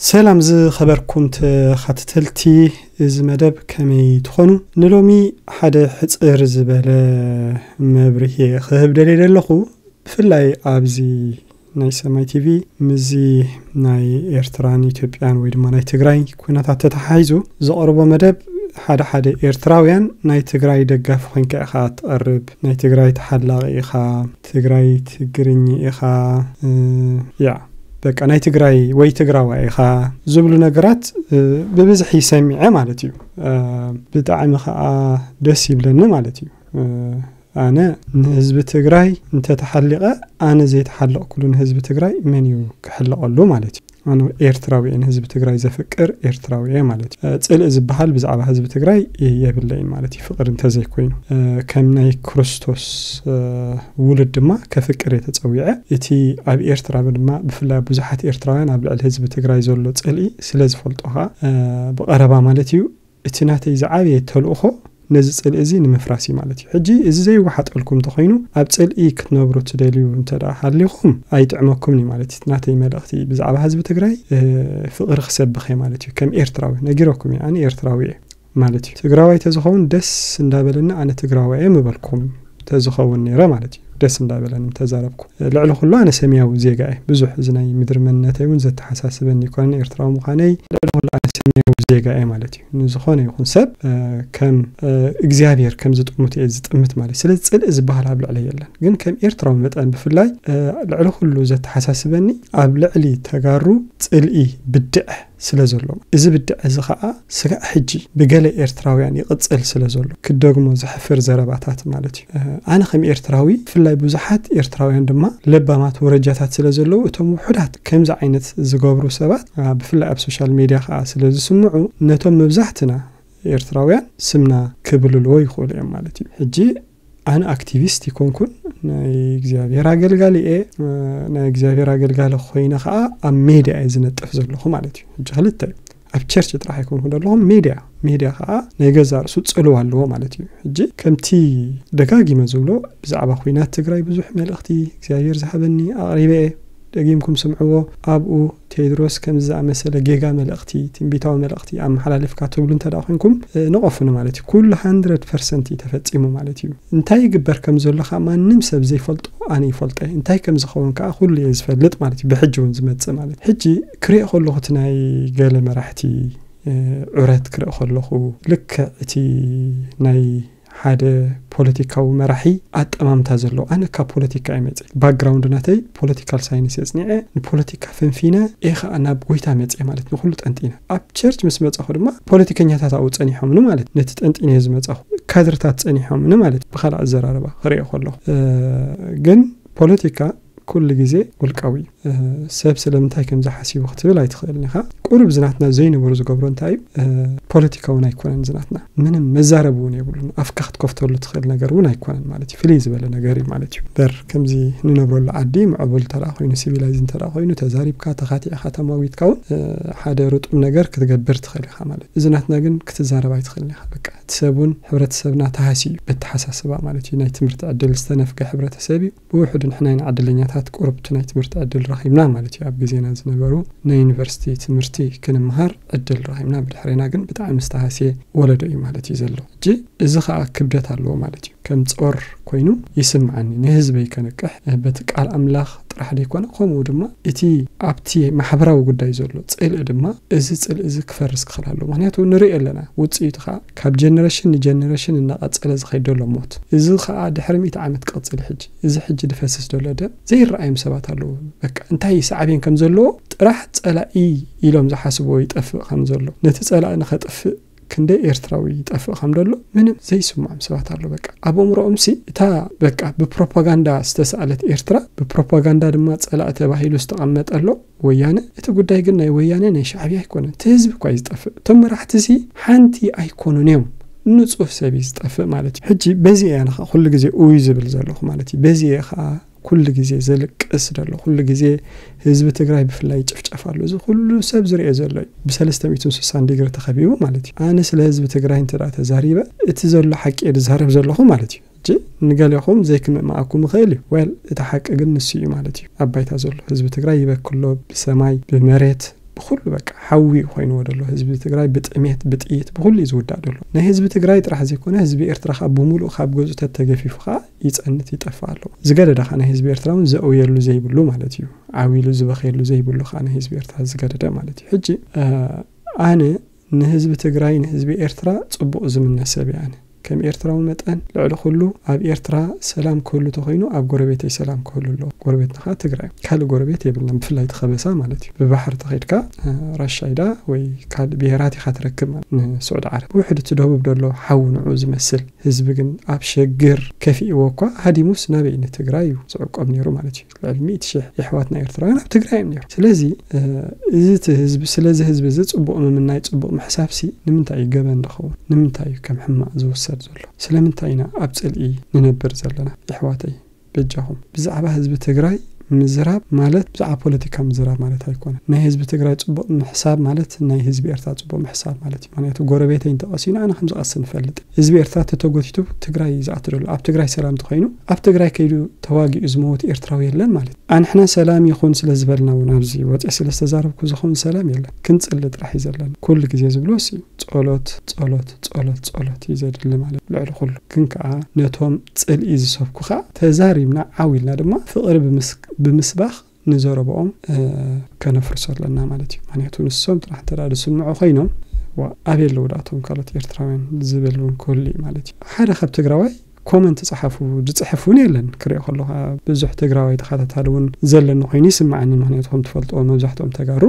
ሰላም ዝኸበርኩም ተኸታተልቲ እዚ መደብ፣ ከመይ ትኾኑ? ንሎሚ ሓደ ሕጽር ዝበለ መብርሂ ክህብ ደልየ ዘለኹ። ብፍላይ ኣብዚ ናይ ሰማይ ቲቪ ምስዚ ናይ ኤርትራን ኢትዮጵያን ወይ ድማ ናይ ትግራይ ኩነታት ተተሓሒዙ ዘቕርቦ መደብ፣ ሓደ ሓደ ኤርትራውያን ናይ ትግራይ ደጋፊ ኮንካ ኢኻ ትቐርብ፣ ናይ ትግራይ ተሓላቒ ኢኻ፣ ትግራይ ትግርኝ ኢኻ፣ እ፣ ያ፣ በቃ ናይ ትግራይ ወይ ትግራዋይ ኢኻ ዝብሉ ነገራት፣ እ፣ ብብዝሒ ሰሚዐ ማለት እዩ። እ፣ ብጣዕሚ ኸኣ ደስ ይብለኒ ማለት እዩ። እ፣ ኣነ ንህዝቢ ትግራይ እንተተሓሊቐ፣ ኣነ ዘይተሓለቕኩሉ ንህዝቢ ትግራይ መን እዩ ክሕለቐሉ ማለት እዩ? ኣነ ኤርትራዊ እየ፣ ንህዝቢ ትግራይ ዘፍቅር ኤርትራዊ እየ ማለት እዩ። እ፣ ጽልኢ ዝበሃል ብዛዕባ ህዝቢ ትግራይ የብለይን ማለት እዩ፣ ፍቕሪ እንተዘይኮይኑ። እ፣ ከም ናይ ክርስቶስ፣ እ፣ ውሉድ ድማ ከፍቅር እየ ተጸዊዐ። እቲ ኣብ ኤርትራ ድማ ብፍላይ ኣብ ብዙሓት ኤርትራውያን ኣብ ልዕሊ ህዝቢ ትግራይ ዘሎ ጽልኢ ስለ ዝፈልጦ ኸኣ፣ እ፣ ብቐረባ ማለት እዩ፣ እቲ ናተይ ዝዓበየ ተልእኾ ነዚ ጽልኢ እዚ ንምፍራስ እዩ ማለት እዩ። ሕጂ እዚ ዘይወሓጠልኩም እንተኾይኑ፣ ኣብ ጽልኢ ክትነብሩ ትደልዩ እንተ ደኣ ሃሊኹም፣ ኣይጥዕመኩምን እዩ ማለት እዩ። ናተይ መልእኽቲ ብዛዕባ ህዝቢ ትግራይ፣ እ፣ ፍቕሪ ክሰብኽ እየ ማለት እዩ። ከም ኤርትራዊ ነጊረኩም እየ፣ ኣነ ኤርትራዊ እየ ማለት እዩ። ትግራዋይ ተዝኸውን ደስ እንዳበለኒ ኣነ ትግራዋይ እየ ምበልኩም ተዝኸውን ነይረ ማለት እዩ። ደስ እንዳበለኒ ተዛረብኩ። ልዕሊ ኩሉ ኣነ ሰማያዊ ዜጋ እየ። ብዙሕ እዚ ናይ ምድሪ መንነተይ እውን ዘተሓሳስበኒ ኣይኮነን፣ ኤርትራዊ ምዃነይ። ልዕሊ ኩሉ ኣነ ሰማያዊ ዜጋ እየ ማለት እዩ። ንዝኾነ ይኹን ሰብ፣ እ፣ ከም፣ እ፣ እግዚኣብሔር ከም ዝጥምት እየ ዝጥምት ማለት እዩ። ስለዚ ጽልኢ ዝበሃል ኣብ ልዕለይ የለን። ግን ከም ኤርትራዊ መጠን ብፍላይ፣ እ፣ ልዕሊ ኩሉ ዘተሓሳስበኒ ኣብ ልዕሊ ተጋሩ ጽልኢ፣ ብድዐ ስለ ዘሎ፣ እዚ ብድዐ እዚ ኸኣ ስጋዕ ሕጂ ብገለ ኤርትራውያን ይቕጽል ስለ ዘሎ፣ ክደግሞ ዘሕፍር ዘረባታት ማለት እዩ። እ፣ ኣነ ከም ኤርትራዊ፣ ብፍላይ ብዙሓት ኤርትራውያን ድማ ለባማት ወረጃታት ስለ ዘለዉ፣ እቶም ውሑዳት ከምዚ ዓይነት ዝገብሩ ሰባት፣ እ፣ ብፍላይ ኣብ ሶሻል ሜድያ ኸኣ ስለ ዝስምዑ፣ ነቶም መብዛሕትና ኤርትራውያን ስምና ክብልልዎ ይኽእሉ እዮም ማለት እዩ። ሕጂ ኣነ ኣክቲቪስት ይኮንኩን፣ ናይ እግዚኣብሔር ኣገልጋሊ እየ። እ፣ ናይ እግዚኣብሔር ኣገልጋሊ ኮይነ ኸኣ ኣብ ሜድያ እየ ዝነጥፍ ዘለኹ ማለት እዩ። ሕጂ ክልተ እዩ። ኣብ ቸርች ጥራሕ ኣይኮንኩን ዘለኹ፣ ሜድያ፣ ሜድያ ኸኣ ናይ ገዛ ርእሱ ጽልዋ ኣለዎ ማለት እዩ። ሕጂ ከምቲ ደጋጊመ ዝብሎ፣ ብዛዕባ ኲናት ትግራይ ብዙሕ መልእኽቲ እግዚኣብሔር ዝሃበኒ ኣቕሪበ እየ። ደጊምኩም ስምዕዎ። ኣብኡ ቴድሮስ ከምዚ ዝኣመሰለ ጌጋ መልእኽቲ፣ ትንቢታዊ መልእኽቲ ኣመሓላሊፍካ ትብሉ እንተ ደኣ ኮንኩም፣ እ፣ ንቐፉኒ ማለት እዩ። ኩሉ ሃንድረድ ፐርሰንት እዩ ተፈጺሙ ማለት እዩ። እንታይ ይግበር ከም ዘሎ ኸኣ ማንም ሰብ ዘይፈልጦ ኣነ ይፈልጦ እየ። እንታይ ከም ዝኸውን ከኣ ኩሉ እየ ዝፈልጥ ማለት እዩ። ብሕጂ እውን ዝመጽእ ማለት እዩ። ሕጂ ክሪኦ ከለኹ እቲ ናይ ገለ መራሕቲ፣ እ፣ ዑረት ክርኢ ከለኹ፣ ልክዕ እቲ ናይ ሓደ ፖለቲካዊ መራሒ ኣጠማምታ ዘለዎ። ኣነ ካብ ፖለቲካ እየ መጽእ። ባክግራውንድ ናተይ ፖለቲካል ሳይንስ እየ ጽኒዐ። ንፖለቲካ ፈንፊነ እየ ኸኣ ናብ ጎይታ መጽእ ማለት ንኹሉ ጠንጢነ። ኣብ ቸርች ምስ መጻኹ ድማ ፖለቲከኛታት ኣብኡ ጸኒሖምኒ ማለት ነቲ ጠንጢነ እየ ዝመጻኹ። ካድርታት ጸኒሖምኒ ማለት ብኻልእ ኣዘራርባ ክሪኦ ከለኹ። እ፣ ግን ፖለቲካ ኩሉ ግዜ ውልቃዊ እዩ። እ፣ ሰብ ስለምንታይ ከምዚ ሓሲቡ ክትብል ኣይትኽእልን ኢኻ። ቁሩብ ዝናትና ዘይነበሩ ዝገብሮ እንታይ እዩ? እ፣ ፖለቲካ እውን ኣይኮነን ዝናትና። ምንም መዛረቢ እውን የብሉን። ኣፍካ ክትከፍተሉ ትኽእል ነገር እውን ኣይኮነን ማለት እዩ። ፍልይ ዝበለ ነገር እዩ ማለት እዩ። በር ከምዚ ንነብረሉ ዓዲ ምዕቡል እንተ ደኣ ኮይኑ፣ ሲቪላይዝ እንተ ደኣ ኮይኑ፣ ተዛሪብካ፣ ተኻቲዕካ፣ ተማዊትካ እውን፣ እ፣ ሓደ ርጡብ ነገር ክትገብር ትኽእል ኢኻ ማለት እዩ። እዚ ናትና ግን ክትዛረብ ኣይትኽእልን ኢኻ። በቃ እቲ ሰብ እውን፣ ሕብረተሰብና ተሃስዩ እዩ። በተሓሳስባ ማለት እዩ። ናይ ትምህርቲ ዕድል ዝተነፍገ ሕብረተሰብ እዩ። ብውሕዱ ንሕና ኢና ዕድለኛታት፣ ቁሩብ እቲ ናይ ትምህርቲ ዕድል ረኺብና ማለት እዩ። ኣብ ግዜና ዝነበሩ ናይ ዩኒቨርሲቲ ትምህርቲ ክንምሃር ዕድል ረኺብና፣ ብድሕሬና ግን ብጣዕሚ ዝተሃስየ ወለዶ እዩ ማለት እዩ ዘሎ። ሕጂ እዚ ኸኣ ክብደት ኣለዎ ማለት እዩ። ከም ጾር ኮይኑ ይስምዓኒ፣ ንህዝበይ ከንቅሕ፣ በቲ ቃል ኣምላኽ ጥራሕ ደይኮነ፣ ከምኡ ድማ እቲ ኣብቲ ማሕበራዊ ጉዳይ ዘሎ ጽልኢ ድማ፣ እዚ ጽልኢ እዚ ክፈርስ ክኽእል ኣለዎ። ምኽንያቱ ንርኢ ኣለና፣ ውጽኢቱ ኸኣ ካብ ጀነሬሽን ንጀነሬሽን እናቐጸለ ዝኸይድ ዘሎ ሞት። እዚ ኸኣ ድሕሪ ሚእቲ ዓመት ክቕጽል እዩ። ሕጂ፣ እዚ ሕጂ ዝፈስስ ዘሎ ደም ዘይረኣዮም ሰባት ኣለዉ። በቃ፣ እንታይ ሳዕቤን ከም ዘለዎ ጥራሕ ጸላኢ ኢሎም ዝሓስብዎ ይጠፍእ ከም ዘሎ፣ ነቲ ጸላኢ ንኸጥፍእ ክንደይ ኤርትራዊ ይጠፍእ ከም ዘሎ ምንም ዘይስምዖም ሰባት ኣሎ። በቃ፣ ኣብ ኣእምሮኦምሲ እታ፣ በቃ፣ ብፕሮፓጋንዳ ዝተሳእለት ኤርትራ፣ ብፕሮፓጋንዳ ድማ ጸላኢ ተባሂሉ ዝተቐመጠ ኣሎ ወያነ። እቲ ጉዳይ ግን ናይ ወያነ፣ ናይ ሻዕብያ ኣይኮነን። እቲ ህዝቢ እኳ እዩ ዝጠፍእ። እቶም መራሕቲሲ ሓንቲ ኣይኮኑን እዮም። ንጹህ ሰብ እዩ ዝጠፍእ ማለት እዩ። ሕጂ በዚ እየ ኣነ ኸኣ ኩሉ ግዜ ኡይ ዝብል ዘለኹ ማለት እዩ። በዚ እየ ኸኣ ኩሉ ግዜ ዘልቅስ ዘሎ፣ ኩሉ ግዜ ህዝቢ ትግራይ ብፍላይ ይጭፍጨፍ ኣሎ። እዚ ኩሉ ሰብ ዝርእዮ ዘሎ እዩ። ብሰለስተ ሚእትን ስሳን ዲግሪ ተኸቢቡ ማለት እዩ። ኣነ ስለ ህዝቢ ትግራይ እንተ ደኣ ተዛሪበ፣ እቲ ዘሎ ሓቂ እየ ዝዛረብ ዘለኹ ማለት እዩ። ሕጂ ንገሌኹም ዘይክምእማኣኩም ይኽእል እዩ። ዌል፣ እቲ ሓቂ ግን ንሱ እዩ ማለት እዩ። ኣብ ባይታ ዘሎ ህዝቢ ትግራይ ይበኪ ኣሎ፣ ብሰማይ፣ ብመሬት፣ ብኩሉ በቃ ሓዊ ኮይንዎ ደሎ። ህዝቢ ትግራይ ብጥሜት፣ ብጥይት፣ ብኩሉ እዩ ዝውዳእ ደሎ። ናይ ህዝቢ ትግራይ ጥራሕ ዘይኮነ ህዝቢ ኤርትራ ካብ ብምሉእ ካብ ገዝኡ ተተገፊፉ ከዓ ይፀንት ይጠፍእ ኣሎ። ዝገደደ ከዓ ናይ ህዝቢ ኤርትራ እውን ዘእውየሉ ዘይብሉ ማለት እዩ። ዓው ኢሉ ዝበኸየሉ ዘይብሉ ከዓ ናይ ህዝቢ ኤርትራ ዝገደደ ማለት እዩ። ሕጂ ኣነ ንህዝቢ ትግራይ ንህዝቢ ኤርትራ ፅቡቕ ዝምነ ሰብ እየ ኣነ። ከም ኤርትራዊ መጠን ልዕሊ ኩሉ ኣብ ኤርትራ ሰላም ክህሉ ተኮይኑ ኣብ ጎረቤተይ ሰላም ክህሉ ኣለዎ። ጎረቤትና ከዓ ትግራይ፣ ካልእ ጎረቤት የብልናን፣ ብፍላይ እቲ ከበሳ ማለት እዩ። ብባሕሪ ተኸይድካ ራሻይዳ ወይ ካልእ ብሄራት ኢኻ ትረክብ ማለት ንስዑድ ዓረብ። ውሕድ እቲ ደቡብ ደሎ ሓው ንዑ ዝመስል ህዝቢ ግን ኣብ ሸግር ከፊእዎ እኳ ሃዲሙስ ናበይ ንትግራይ እዩ ዝዕቆብ ነይሩ ማለት እዩ። ልዕሊ ሚእቲ ሽሕ የሕዋትና ኤርትራውያን ኣብ ትግራይ እዮም ነይሩ። ስለዚ እዚ እቲ ህዝቢ ስለዚ ህዝቢ እዚ ፅቡቕ ምምናይ ፅቡቕ ምሕሳብሲ ንምንታይ እዩ ገበን ዝኸውን? ንምንታይ እዩ ከም ሕማቕ ዝውሰድ ዘሎ? ስለምንታይ ኢና ኣብ ፅልኢ ንነብር ዘለና? የሕዋተይ በጃኹም ብዛዕባ ህዝቢ ትግራይ ምዝራብ ማለት ብዛዕባ ፖለቲካ ምዝራብ ማለት ኣይኮነ። ናይ ህዝቢ ትግራይ ፅቡቕ ምሕሳብ ማለት ናይ ህዝቢ ኤርትራ ፅቡቕ ምሕሳብ ማለት እዩ። ምክንያቱ ጎረቤተይ እንተቐሲኑ ኣነ ከምዝቐሲ ንፈልጥ። ህዝቢ ኤርትራ ተተጎቲቱ ትግራይ ዝኣትደሉ ኣብ ትግራይ ሰላም ተኮይኑ ኣብ ትግራይ ከይዱ ተዋጊኡ ዝመወት ኤርትራዊ የለን ማለት እዩ። ኣንሕና ሰላም ይኹን ስለ ዝበልና እውን ኣብዚ ወፂ ስለ ዝተዛረብኩ ዝኸውን ሰላም የለን። ክንፅሊ ጥራሕ እዩ ዘለና። ኩሉ ግዜ ዝብሎ ሲ ጸሎት ጸሎት ጸሎት ጸሎት እዩ ዘድሊ ማለት ልዕሊ ኩሉ። ግን ከዓ ነቶም ጽልኢ ዝሰብኩ ከዓ ተዛሪብና ዓው ኢልና ድማ ፍቕሪ ብምስባኽ ንዘረብኦም ከነፍርሶ ኣለና ማለት እዩ። ምክንያቱ ንሶም ጥራሕ እንተ ዝስምዑ ኮይኖም ኣበይ ኣለዉ ዳእቶም ካልኦት ኤርትራውያን ዝብል እውን ክህሉ እዩ ማለት እዩ። ሓደ ካብ ትግራዋይ ኮመንት ጸሓፉ ዝጽሕፍ እውን የለን። ክሪኦ ከለኻ ብዙሕ ትግራዋይ ተኸታታሊ እውን ዘለኒ ኮይኑ ይስምዓኒ። ምክንያቱ ከም ትፈልጥዎ መብዛሕትኦም ተጋሩ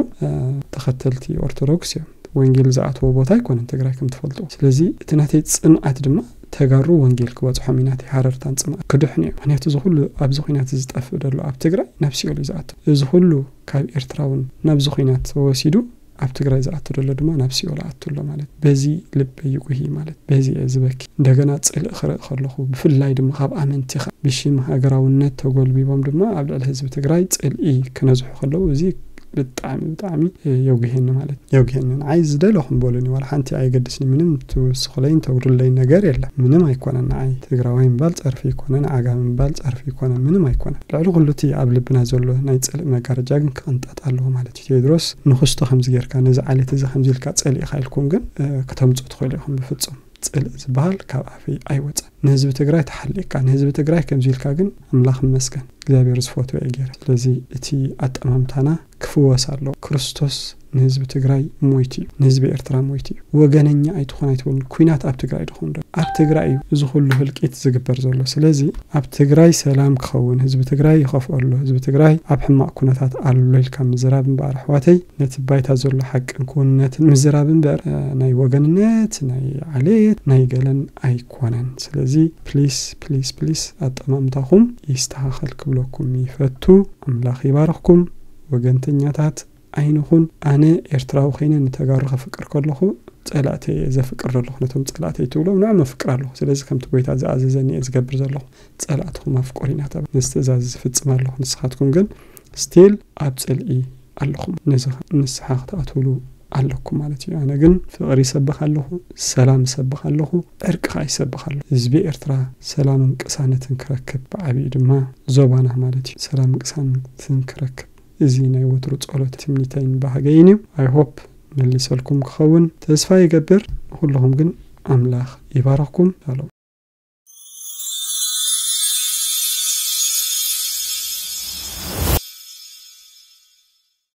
ተኸተልቲ ኦርቶዶክስ እዮም። ወንጌል ዝኣተዎ ቦታ ኣይኮነን ትግራይ ከም ትፈልጥዎ። ስለዚ እቲ ናተይ ጽምኣት ድማ ተጋሩ ወንጌል ክበጽሖም እዩ ናተይ ሃረርታን ጽምኣት ክድሕኑ እዮም። ምክንያቱ እዚ ኩሉ ኣብዚ ኩናት ዝጠፍእ ዘሎ ኣብ ትግራይ ናብ ሲኦል እዩ ዝኣቱ። እዚ ኩሉ ካብ ኤርትራ እውን ናብዚ ኩናት ተወሲዱ ኣብ ትግራይ ዝኣቱ ዘሎ ድማ ናብ ሲኦል ኣቱ ኣሎ ማለት በዚ ልበይ ይጉሂ ማለት በዚ እየ ዝበኪ። እንደገና ጽልእ ክርኢ ከለኹ ብፍላይ ድማ ካብ ኣመንቲኻ ብሽም ሃገራውነት ተጎልቢቦም ድማ ኣብ ልዕሊ ህዝቢ ትግራይ ጽልኢ ክነዝሑ ከለዉ እዚ ብጣዕሚ ብጣዕሚ የጉሄኒ ማለት የጉሄኒ። ንዓይ ዝደለኹም በሉኒ ዋላ ሓንቲ ኣየገድስኒ ምንም ትውስኹለይን ተጉድለይን ነገር የለን። ምንም ኣይኮነን ንዓይ ትግራዋይ ምባል ጸርፊ ኣይኮነን። ዓጋመ ምባል ጸርፊ ኣይኮነን። ምንም ኣይኮነን። ልዕሊ ኩሉ እቲ ኣብ ልብና ዘሎ ናይ ጽልእ መጋረጃ ግን ክቕንጠጥ ኣለዎ ማለት እዩ። ቴድሮስ ንኽስቶ ከምዚ ጌርካ ነዚ ዓሌት እዚ ከምዚ ኢልካ ጸሊእካ ኢልኩም ግን ከተምጽኡ ትኽእሉ ኢኹም። ብፍጹም ጽልእ ዝበሃል ካብ ኣፈይ ኣይወጸን። ንህዝቢ ትግራይ ተሓሊቕካ ንህዝቢ ትግራይ ከምዚ ኢልካ ግን ኣምላኽ ይመስገን እግዚኣብሔር ዝፈትዎ እየ ገይረ። ስለዚ እቲ ኣጠማምታና ክፍወስ ኣለዎ። ክርስቶስ ንህዝቢ ትግራይ ሞይቱ እዩ። ንህዝቢ ኤርትራ ሞይቱ እዩ። ወገነኛ ኣይትኾን ኣይትበሉን። ኩናት ኣብ ትግራይ ድኾን ዶ? ኣብ ትግራይ እዩ እዚ ኩሉ ህልቂት ዝግበር ዘሎ። ስለዚ ኣብ ትግራይ ሰላም ክኸውን ህዝቢ ትግራይ ይኸፍኦ ኣሎ። ህዝቢ ትግራይ ኣብ ሕማቕ ኩነታት ኣሎ ኢልካ ምዝራብ እምበኣር ኣሕዋተይ ነቲ ባይታ ዘሎ ሓቅን ክውንነትን ምዝራብ እምበር ናይ ወገንነት ናይ ዓሌት ናይ ገለን ኣይኮነን። ስለዚ ፕሊስ ፕሊስ ፕሊስ ኣጠማምታኹም ይስተኻኸል ክብለኩም ይፈቱ። ኣምላኽ ይባርኽኩም። ወገንተኛታት ኣይንኹን። ኣነ ኤርትራዊ ኮይነ ንተጋሩ ከፍቅር ከለኹ ጸላእተይ እየ ዘፍቅር ዘለኹ። ነቶም ጸላእተይ ትብሎም ንዕም ኣፍቅር ኣለኹ። ስለዚ ከምቲ ጎይታ ዝኣዘዘኒ እየ ዝገብር ዘለኹ። ጸላእትኹም ኣፍቅሩ ኢና ተባሂሉ። ነዚ ትእዛዝ እዚ ዝፍጽም ኣለኹ። ንስኻትኩም ግን ስቲል ኣብ ጽልኢ ኣለኹም። ነዚ ንስሓ ክትኣትውሉ ኣለኩም ማለት እዩ። ኣነ ግን ፍቕሪ ይሰብኽ ኣለኹ፣ ሰላም ይሰብኽ ኣለኹ፣ ዕርቂ ከዓ ይሰብኽ ኣለኹ። ህዝቢ ኤርትራ ሰላምን ቅሳነትን ክረክብ ብዓብዩ ድማ ዞባና ማለት እዩ ሰላምን ቅሳነትን ክረክብ እዚ ናይ ወትሩ ጸሎት ትምኒተይን ባህገይን እዩ። I hope መሊሰልኩም ክኸውን ተስፋ ይገብር። ንኹልኹም ግን ኣምላኽ ይባርኽኩም። ሻሎም።